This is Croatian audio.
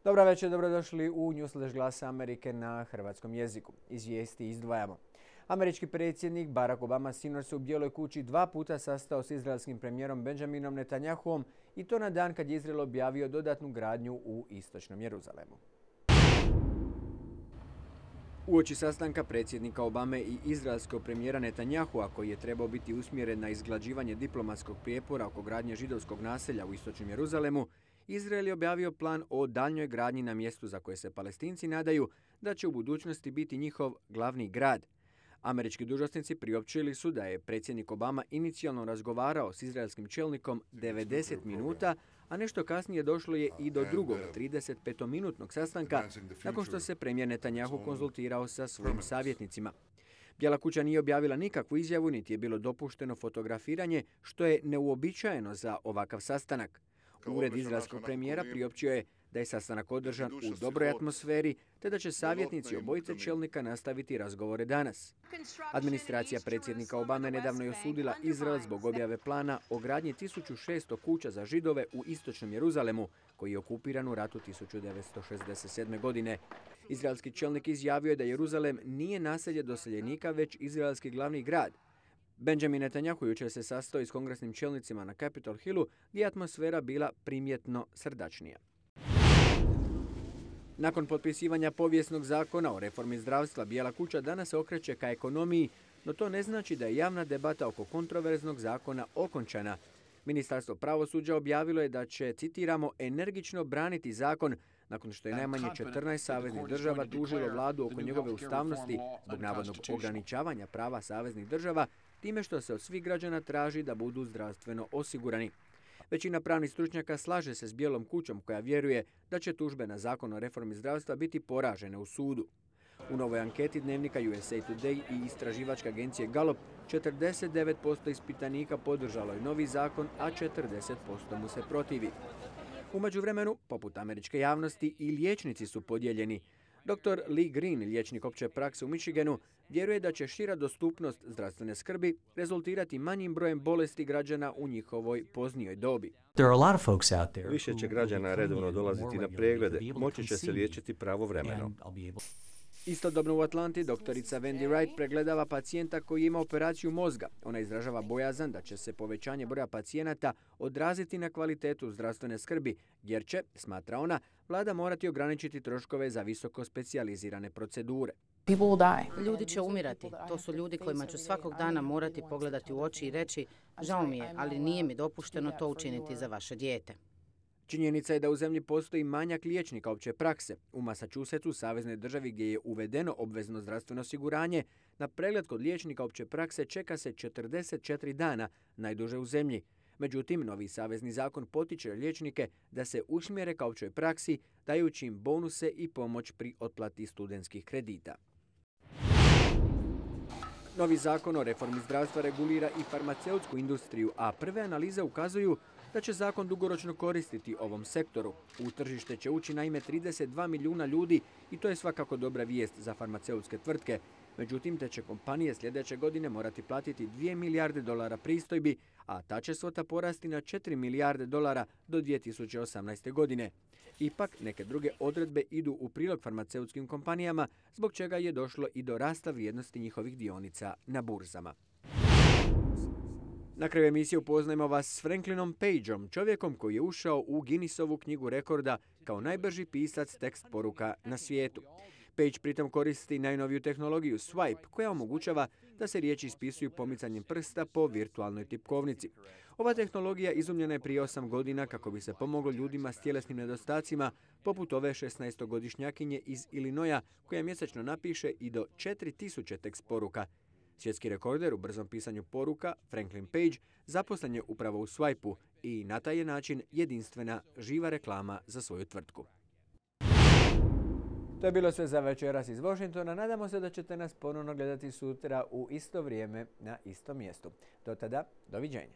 Dobra večer, dobrodošli u Newsflash Glasa Amerike na hrvatskom jeziku. Iz vijesti izdvajamo. Američki predsjednik Barack Obama sinoć se u Bijeloj kući 2 puta sastao s izraelskim premijerom Benjaminom Netanjahuom i to na dan kad je Izrael objavio dodatnu gradnju u istočnom Jeruzalemu. Uoči sastanka predsjednika Obame i izraelskog premijera Netanjahua, koji je trebao biti usmjeren na izglađivanje diplomatskog prijepora oko gradnje židovskog naselja u istočnom Jeruzalemu, Izrael je objavio plan o daljnjoj gradnji na mjestu za koje se Palestinci nadaju da će u budućnosti biti njihov glavni grad. Američki dužnosnici priopćili su da je predsjednik Obama inicijalno razgovarao s izraelskim čelnikom 90 minuta, a nešto kasnije došlo je i do drugog 35-minutnog sastanka nakon što se premijer Netanjahu konzultirao sa svojim savjetnicima. Bijela kuća nije objavila nikakvu izjavu, niti je bilo dopušteno fotografiranje, što je neuobičajeno za ovakav sastanak. Ured izraelskog premijera priopćio je da je sastanak održan u dobroj atmosferi, te da će savjetnici obojice čelnika nastaviti razgovore danas. Administracija predsjednika Obame nedavno je osudila Izrael zbog objave plana o gradnji 1600 kuća za Židove u istočnom Jeruzalemu, koji je okupiran u ratu 1967. godine. Izraelski čelnik izjavio je da Jeruzalem nije naselje doseljenika, već izraelski glavni grad. Benjamin Netanjahu jučer se sastao s kongresnim čelnicima na Capitol Hillu, gdje je atmosfera bila primjetno srdačnija. Nakon potpisivanja povijesnog zakona o reformi zdravstva, Bijela kuća danas se okreće ka ekonomiji, no to ne znači da je javna debata oko kontroverznog zakona okončana. Ministarstvo pravosuđa objavilo je da će, citiramo, energično braniti zakon nakon što je najmanje 14 saveznih država tužilo vladu oko njegove ustavnosti zbog navodnog ograničavanja prava saveznih država, time što se od svih građana traži da budu zdravstveno osigurani. Većina pravnih stručnjaka slaže se s Bijelom kućom, koja vjeruje da će tužbe na zakon o reformi zdravstva biti poražene u sudu. U novoj anketi dnevnika USA Today i istraživačke agencije Gallup 49% ispitanika podržalo je novi zakon, a 40% mu se protivi. U međuvremenu, poput američke javnosti, i liječnici su podijeljeni. Dr. Lee Green, liječnik opće prakse u Michiganu, vjeruje da će šira dostupnost zdravstvene skrbi rezultirati manjim brojem bolesti građana u njihovoj poznijoj dobi. Više će građana redovno dolaziti na preglede, moći će se liječiti pravovremeno. Istodobno u Atlanti doktorica Wendy Wright pregledava pacijenta koji ima operaciju mozga. Ona izražava bojazan da će se povećanje broja pacijenata odraziti na kvalitetu zdravstvene skrbi, jer će, smatra ona, vlada morati ograničiti troškove za visoko specijalizirane procedure. Ljudi će umirati. To su ljudi kojima ću svakog dana morati pogledati u oči i reći: žao mi je, ali nije mi dopušteno to učiniti za vaše dijete. Činjenica je da u zemlji postoji manjak liječnika opće prakse. U Massachusettsu, saveznoj državi gdje je uvedeno obvezno zdravstveno osiguranje, na pregled kod liječnika opće prakse čeka se 44 dana, najduže u zemlji. Međutim, novi savezni zakon potiče liječnike da se usmjere ka općoj praksi, dajući im bonuse i pomoć pri otplati studentskih kredita. Novi zakon o reformi zdravstva regulira i farmaceutsku industriju, a prve analize ukazuju da će zakon dugoročno koristiti ovom sektoru. U tržište će ući naime 32 milijuna ljudi i to je svakako dobra vijest za farmaceutske tvrtke. Međutim, te će kompanije sljedeće godine morati platiti 2 milijarde dolara pristojbi, a ta će svota porasti na 4 milijarde dolara do 2018. godine. Ipak, neke druge odredbe idu u prilog farmaceutskim kompanijama, zbog čega je došlo i do rasta vrijednosti njihovih dionica na burzama. Na kraju emisije upoznajemo vas s Franklinom Pageom, čovjekom koji je ušao u Guinnessovu knjigu rekorda kao najbrži pisac tekst poruka na svijetu. Page pritom koristi najnoviju tehnologiju Swipe, koja omogućava da se riječi ispisuju pomicanjem prsta po virtualnoj tipkovnici. Ova tehnologija izumljena je prije 8 godina kako bi se pomoglo ljudima s tjelesnim nedostacima, poput ove 16-godišnjakinje iz Illinoisa, koja mjesečno napiše i do 4000 tekst poruka. Svjetski rekorder u brzom pisanju poruka, Franklin Page, zaposlen je upravo u Swipe-u i na taj je način jedinstvena živa reklama za svoju tvrtku. To je bilo sve za večeras iz Washingtona. Nadamo se da ćete nas ponovno gledati sutra u isto vrijeme na istom mjestu. Do tada, doviđenja.